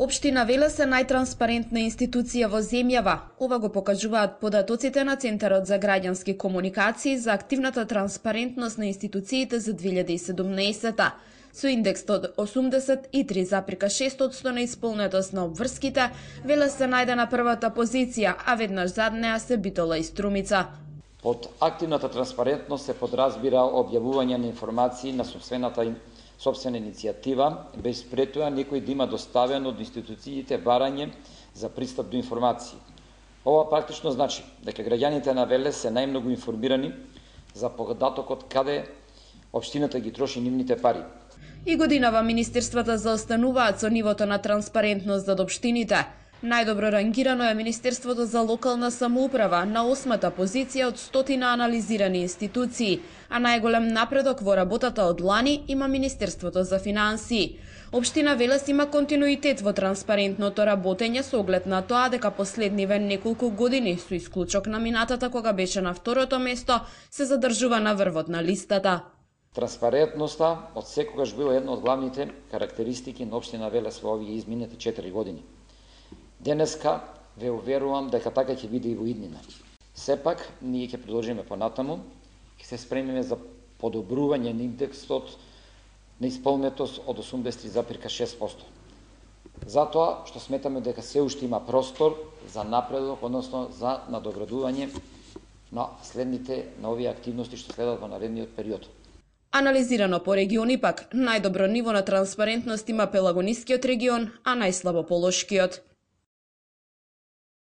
Општина Велес е најтранспарентна институција во земјава. Ова го покажуваат податоците на Центарот за граѓански комуникации за активната транспарентност на институциите за 2017. Со индекс од 83,6% на исполнетост на обврските, Велес се најде на првата позиција, а веднаш зад неа се Битола и Струмица. Под активната транспарентност се подразбира објавување на информации на собствена иницијатива, без пред тоа некој да има доставено од институциите барање за пристап до информации. Ова практично значи дека граѓаните на Велес се најмногу информирани за податокот каде општината ги троши нивните пари. И годинава министерствата заостануваат со нивото на транспарентност зад општините. Најдобро рангирано е Министерството за локална самоуправа на 8-та позиција од 100 анализирани институции, а најголем напредок во работата од лани има Министерството за финансии. Општина Велес има континуитет во транспарентното работење со оглед на тоа дека последниве неколку години, со исклучок на минатата кога беше на второто место, се задржува на врвот на листата. Транспарентноста од секогаш била една од главните карактеристики на општина Велес во овие изминати 4 години. Денеска ве уверувам дека така ќе биде и во иднина. Сепак, ние ќе продолжиме понатаму, ќе се спремиме за подобрување на индексот на исполнетост од 83,6%. Затоа што сметаме дека се уште има простор за напредок, односно за надоградување на овие активности што следат во наредниот период. Анализирано по региони пак, најдобро ниво на транспарентност има Пелагонискиот регион, а најслабо Полошкиот.